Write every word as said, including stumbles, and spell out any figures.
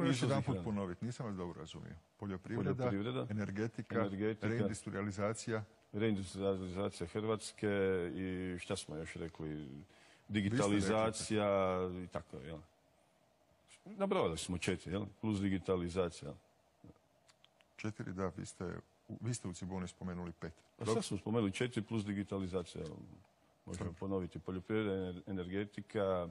još izvozi jedan put hrane. ponoviti, nisam vas dobro razumio. Poljoprivreda, Poljoprivreda, energetika, energetika, reindustrializacija. Reindustrializacija Hrvatske i šta smo još rekli, digitalizacija i tako, jel? Nabrojali smo četiri, jel? Plus digitalizacija. Četiri, da, vi ste, vi ste u Ciboni spomenuli pet. Pa sad smo spomenuli četiri plus digitalizacija. Možemo ponoviti poljoprivreda, energetika,